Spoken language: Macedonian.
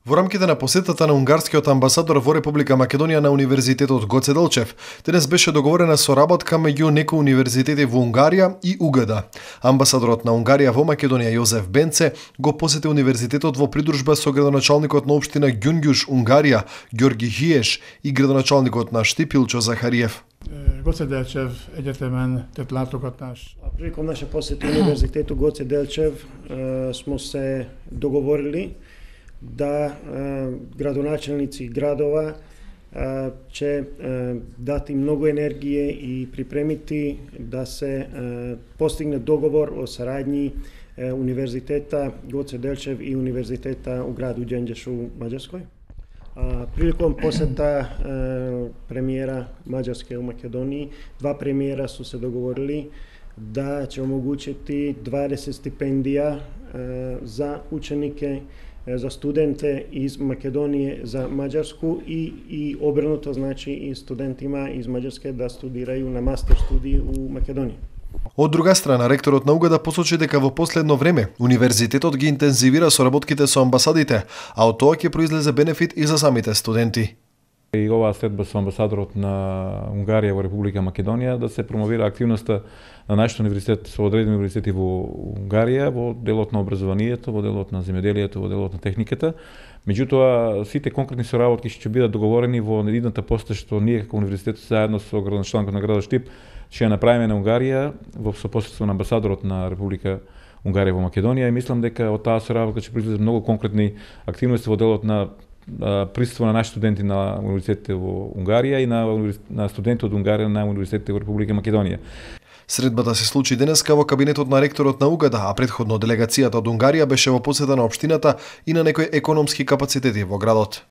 Во рамките на посетата на унгарскиот амбасадор во Република Македонија на Универзитетот Гоце Делчев, денес беше договорена соработка меѓу некои универзитети во Унгарија и УГД. Амбасадорот на Унгарија во Македонија Јозеф Бенце го посети универзитетот во придружба со градоначалникот на општина Ѓунгјуш, Унгарија, Ѓорги Хиеш и градоначалникот на Штип Илчо Захариев. Гоце Делчев Egyetemen tett látogatás. Prilikom naše posete Univerzitetu Goce Delčev smo se dogovorili da gradonačelnici gradova će dati mnogo energije i pripremiti da se postigne dogovor o saradnji Univerziteta Goce Delčev i Univerziteta u gradu Ѓenđeš u Mađarskoj. Prilikom poseta premijera Mađarske u Makedoniji, dva premijera su se dogovorili da će omogućiti 20 stipendija za učenike, za studente iz Makedonije za Mađarsku i obrnuto, znači i studentima iz Mađarske da studiraju na master studiji u Makedoniji. Од друга страна, ректорот на УГД посочи дека во последно време универзитетот ги интензивира соработките со амбасадите, а од тоа ќе произлезе бенефит и за самите студенти. И оваа следба со амбасадорот на Унгарија во Република Македонија да се промовира активноста на нашиот универзитет со одредени универзитети во Унгарија во делот на образованието, во делот на земјоделието, во делот на техниката. Меѓутоа, сите конкретни соработки ќе бидат договорени во едната посета што ние како универзитет заедно со градоначалникот на градот Штип ќе ја направиме на Унгарија во сопоставство на амбасадорот на Република Унгарија во Македонија и мислам дека од таа соработка ќе произлезат многу конкретни активности во делот на присуство на наши студенти на универзитетите во Унгарија и на студенти од Унгарија на универзитетите во Република Македонија. Средбата се случи денеска во кабинетот на ректорот на УГД, а претходно делегацијата од Унгарија беше во посета на општината и на некои економски капацитети во градот.